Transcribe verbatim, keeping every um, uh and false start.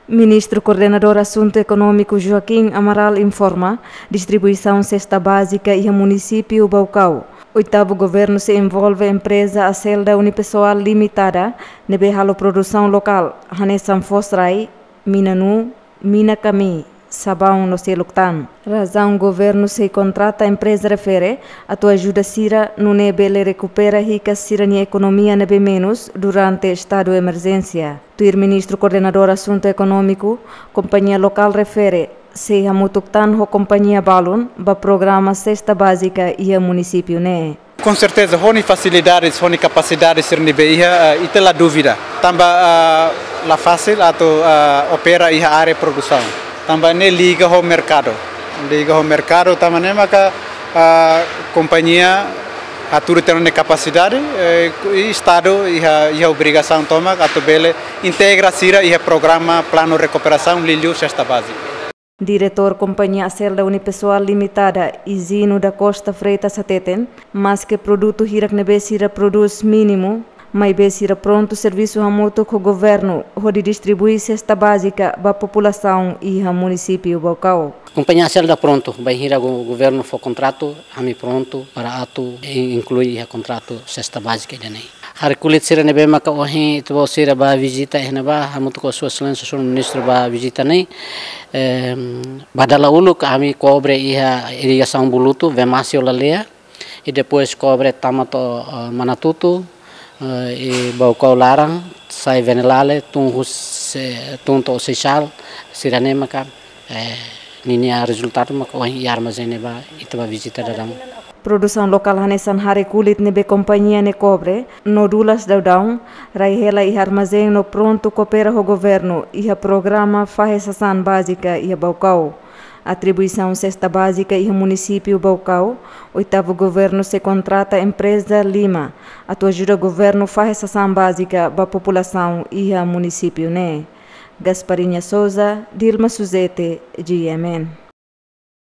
Ministru Koordenadór Asuntu Ekonómiku Joaquim Amaral informa, distribuisaun sesta bázika iha munisípiu Baucau. Oitavu Governu sei envolve empreza Aselda Unipessoal Limitada, ne'ebé halo produsaun lokál, hanesan foos-rai, mina-nuu, mina-kamii, sabaun no seluk tan. Razaun Governu sei kontrata empreza refere atu ajuda sira nune'e bele rekupera hikas sira-nia ekonomia ne'ebé menus durante estadu emerjénsia. Tuir Ministru Koordenadór Asuntu Ekonómiku, kompañia lokál refere sei hamutuk tan ho kompañia balun ba programa sesta bázika iha munisípiu ne'e. Com certeza, ho nia fasilidades, ho nia kapasidade sira ne'ebé iha, eh, ita la dúvida. Tanba, ah, la fasil atu, ah, opera iha área produsaun. Tanba ne'e liga ho merkadu. Liga ho merkadu, tanba ne'e maka, ah, kompañia hatudu tiha ona nia kapasidade, eh, i estadu iha, iha obrigasaun tomak atu bele integra sira iha programa planu rekuperasaun liuliu sesta bázika. Diretór kompañia Aselda Unipessoal Limitada, Izino da Costa Freitas hateten, maske produtu hirak ne'ebé sira prodús mínimu, maibé sira prontu servisu hamutuk ho governu hodi distribui sesta bázika ba populasaun iha munisípiu Baucau. Kompañia Aselda prontu, bainhira go-, governu fó kontratu, ami prontu para atu in-, inklui iha kontratu sesta bázika ida-ne'e. Haree kulit sira ne'ebé maka ohin ita-boot sira bá vizita iha ne'ebá, hamutuk ho Sua Exelénsia Señór Ministru bá vizita ne'e, em, ba dala uluk ami kobre iha irrigasaun Bulutu, Vemasio Laleya, i depois kobre tama to'o, eh, Manatutu, eh, i Baucau laran, sai Venelale, tun husi, tun to'o Seixal, sira-ne'e maka, eh, ninia rezultadu maka ohin iha armazén ne'ebá ita bá vizita daudaun. Produsaun lokál hanesan haree kulit ne'ebé kompañia ne'e kobre, no dulas daudaun, rai hela iha armazén no prontu koopera ho governu iha programa fahe sasán bázika iha Baucau. Atribuisaun sesta bázika iha munisípiu Baucau, oitavu governu sei kontrata empreza Lima atu ajuda governu fahe sasán bázika ba populasaun iha munisípiu ne'e. Gasparinha Souza, Dilma Suzete, G M N.